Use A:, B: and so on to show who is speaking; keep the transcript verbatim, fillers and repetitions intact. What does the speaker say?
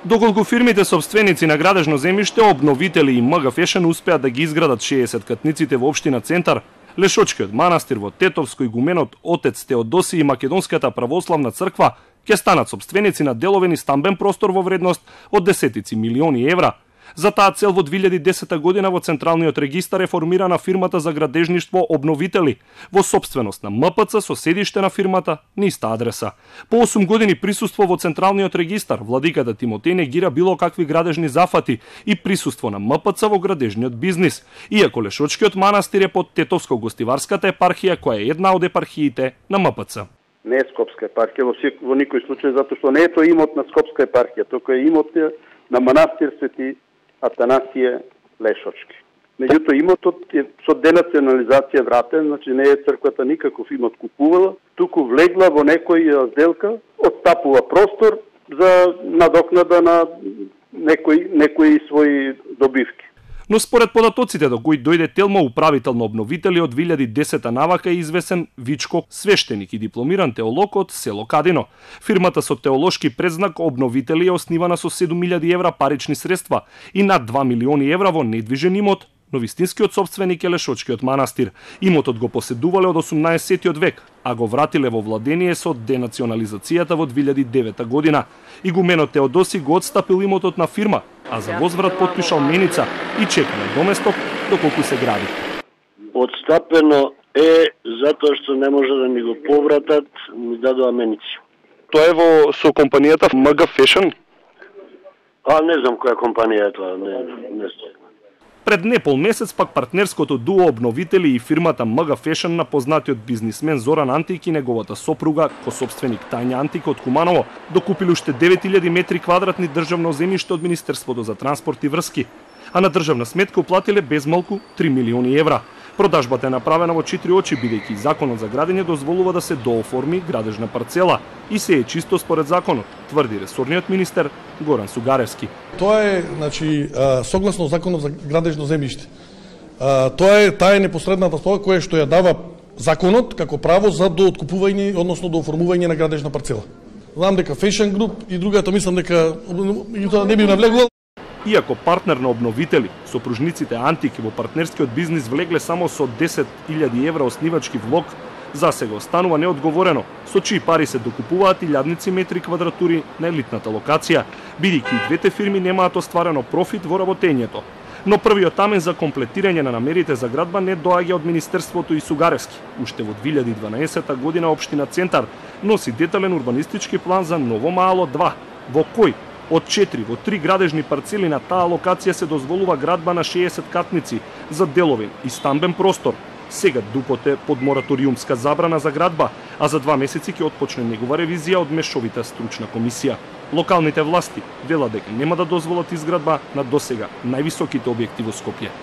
A: Доколку фирмите собственици на градежно земјиште, обновители и МГ Фешен успеат да ги изградат шеесет катниците во општина Центар, Лешочкиот манастир во Тетовско и гуменот Отец Теодосија и Македонската православна црква ќе станат собственици на деловен и стамбен простор во вредност од десетици милиони евра. За таа цел во две илјади и десета година во Централниот регистар е формирана фирмата за градежништво Обновители, во сопственост на МПЦ со седиште на фирмата на иста адреса. По осум години присуство во Централниот регистар, владиката Тимотеј негира било какви градежни зафати и присуство на МПЦ во градежниот бизнис, иако Лешочкиот манастир е под Тетовско-гостиварската епархија, која е една од епархиите на МПЦ.
B: Не е Скопска епархија во, во никој случај, затоа што не е тоа имот на Скопска епархија, туку е имот на манастир Свети Атанасије Лешочки. Меѓутоа имотот е со денационализација вратен, значи не е црквата никаков имот купувала, туку влегла во некој сделка, отстапува простор за надокнада на некои некои своји добивки.
A: Но според податоците до кои дојде Телма, управител на Обновители од две илјади и десета навака, е извесен Вичко, свештеник и дипломиран теолог од село Кадино. Фирмата со теолошки предзнак Обновители е основана со седум илјади евра парични средства и над два милиони евра во недвижен имот, но вистинскиот собственик е Лешочкиот манастир. Имотот го поседувале од осумнаесеттиот век, а го вратиле во владение со денационализацијата во две илјади и девета година. Игуменот Теодоси го отстапил имотот на фирма, а за возврат потпишал меница и чека на доместок доколку се гради.
C: Отстапено е затоа што не може да ми го повратат, ми дадоа меници.
A: Тоа е во со компанијата МГ Фешен?
C: А не знам која компанија е тоа, не не знам.
A: Пред непол месец пак партнерското дуо Обновители и фирмата МГ Фешен на познатиот бизнисмен Зоран Антик и неговата сопруга, косопственик Тања Антик од Куманово, докупили уште девет илјади метри квадратни државно земјиште од Министерството за транспорт и врски, а на државна сметка уплатиле безмалку три милиони евра. Продажбата е направена во четири очи, бидејќи законот за градење дозволува да се дооформи градежна парцела и се е чисто според законот, тврди ресорниот министер Горан Сугаревски.
D: Тоа е, значи, согласно законот за градежно земјиште. Тоа е таа е непосредната стова која што ја дава законот како право за дооткупување, односно дооформување на градежна парцела. Знам дека Fashion Group и другата мислам дека не би навлегло.
A: Иако партнер на Обновители, сопружниците Антик во партнерскиот бизнис влегле само со десет илјади евра оснивачки влог, засега останува неодговорено со чии пари се докупуваат илјадници метри квадратури на елитната локација, бидејќи и двете фирми немаат остварено профит во работењето. Но првиот амен за комплетирање на намерите за градба не доаѓа од Министерството и Сугаревски. Уште во две илјади и дванаесета година општина Центар носи детален урбанистички план за Ново Мало два, во кој од четири во три градежни парцели на таа локација се дозволува градба на шеесет катници за деловен и стамбен простор. Сега ДУПОТ е под мораториумска забрана за градба, а за два месеци ќе отпочне негова ревизија од мешовита стручна комисија. Локалните власти велат дека нема да дозволат изградба на досега највисоките објекти во Скопје.